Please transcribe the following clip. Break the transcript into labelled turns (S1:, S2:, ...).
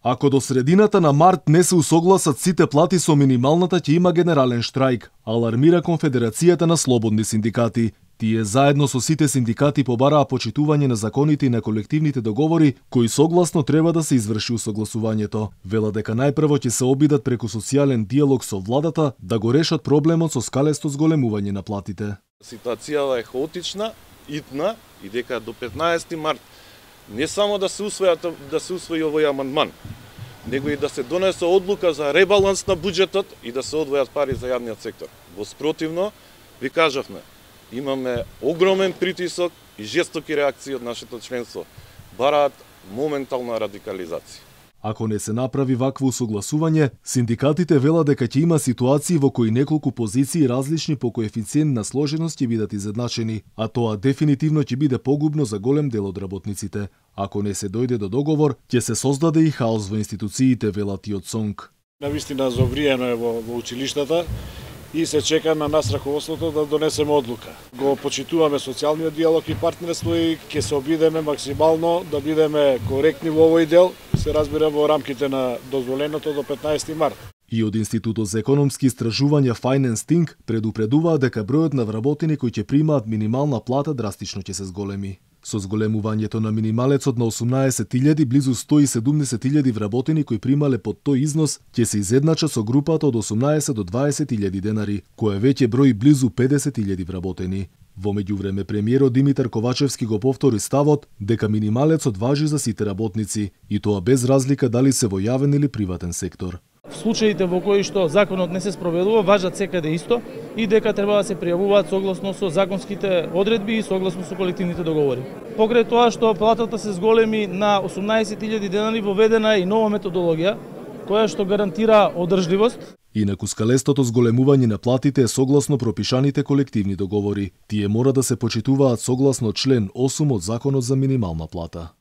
S1: Ако до средината на март не се усогласат сите плати со минималната, ќе има генерален штрајк, алармира Конфедерацијата на слободни синдикати. Тие заедно со сите синдикати побараа почитување на законите и на колективните договори, кои согласно треба да се изврши усогласувањето. Вела дека најпрво ќе се обидат преку социјален диалог со владата да го решат проблемот со скалесто зголемување на платите.
S2: Ситуацијата е хаотична, итна и дека до 15 март не само да се усвои овој амандман, него и да се донесе одлука за ребаланс на буџетот и да се одвојат пари за јавниот сектор. Во спротивно, ви кажавме, имаме огромен притисок и жестоки реакции од нашето членство. Бараат моментална радикализација.
S1: Ако не се направи вакво усогласување, синдикатите велат дека ќе има ситуации во кои неколку позиции различни по коефициент на сложеност ќе бидат изедначени, а тоа дефинитивно ќе биде погубно за голем дел од работниците. Ако не се дојде до договор, ќе се создаде и хаос во институциите, велат и од СОНК.
S3: Навистина зовриено е во училиштата и се чека на нас раководството да донесеме одлука. Го почитуваме социјалниот диалог и партнерство и ќе се обидеме максимално да бидеме коректни во овој дел, се разбира во рамките на дозволеното до 15 март.
S1: И од Институтот за економски истражувања Finance Think предупредуваат дека бројот на вработени кои ќе примаат минимална плата драстично ќе се зголеми. Со зголемувањето на минималецот на 18.000, близу 170.000 вработени кои примале под тој износ ќе се изедначат со групата од 18 до 20.000 денари, која веќе брои близу 50.000 вработени. Во меѓувреме премиерот Димитар Ковачевски го повтори ставот дека минималецот важи за сите работници и тоа без разлика дали се во јавен или приватен сектор.
S4: В случаите во кои што законот не се спроведува, важат секаде исто и дека треба да се пријавуваат согласно со законските одредби и согласно со колективните договори. Покрај тоа што платата се зголеми на 18.000 денари, воведена е и нова методологија која што гарантира одржливост.
S1: Инаку скалестото зголемување на платите е согласно пропишаните колективни договори. Тие мора да се почитуваат согласно член 8 од Законот за минимална плата.